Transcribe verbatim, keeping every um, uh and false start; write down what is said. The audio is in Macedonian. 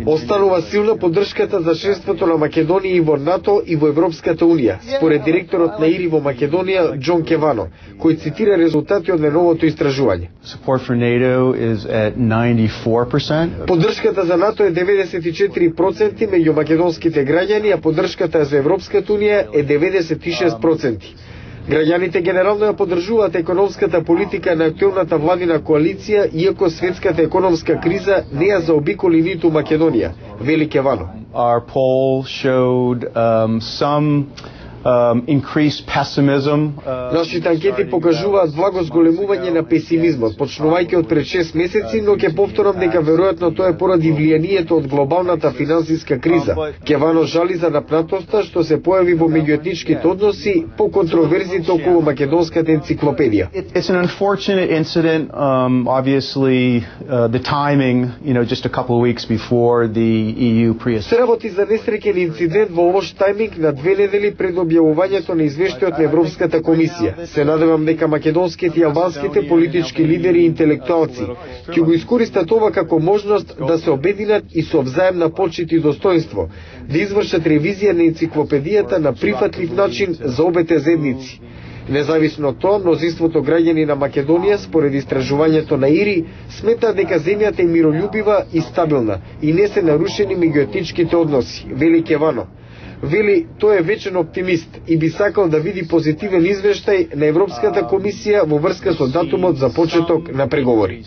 Останува силна поддршката за членството на Македонија и во НАТО и во Европската унија, според директорот на ИРИ во Македонија Џон Кевано, кој цитира резултати од неновото истражување. Поддршката за НАТО е деветдесет и четири проценти меѓу македонските граѓани, а поддршката за Европската унија е деветдесет и шест проценти. Граѓаните генерално ја поддржуваат економската политика на актуелната владина коалиција, иако светската економска криза не ја заобиколи ниту Македонија, вели Кевано. Our poll showed um, some um, increased pessimism. Uh, Нашите анкети покажуваат благо зголемување на песимизмот, почнувајќи од пред шест месеци, но ќе повторам дека веројатно тоа е поради влијанието од глобалната финансиска криза. Кевано жали за напнатоста што се појави во меѓуетничките односи по контроверзите околу македонската енциклопедија. It's an unfortunate incident. Um, obviously, uh, the timing, you know, just a couple of weeks before the E U pre-assessment. Се работи за несреќен инцидент во лош тајминг на две недели пред објавувањето на извештајот на Европската комисија. Се надевам дека македонските и албанските политички лидери и интелектуалци ќе го искористат ова како можност да се обединат и со взаемна почит и достоинство, да извршат ревизија на енциклопедијата на прифатлив начин за обете заедници. Независно од тоа, мнозинството граѓани на Македонија, според истражувањето на ИРИ, сметаат дека земјата е мирољубива и стабилна и не се нарушени меѓуетничките односи, вели Кевано. Вели, тој е вечен оптимист и би сакал да види позитивен извештај на Европската комисија во врска со датумот за почеток на преговори.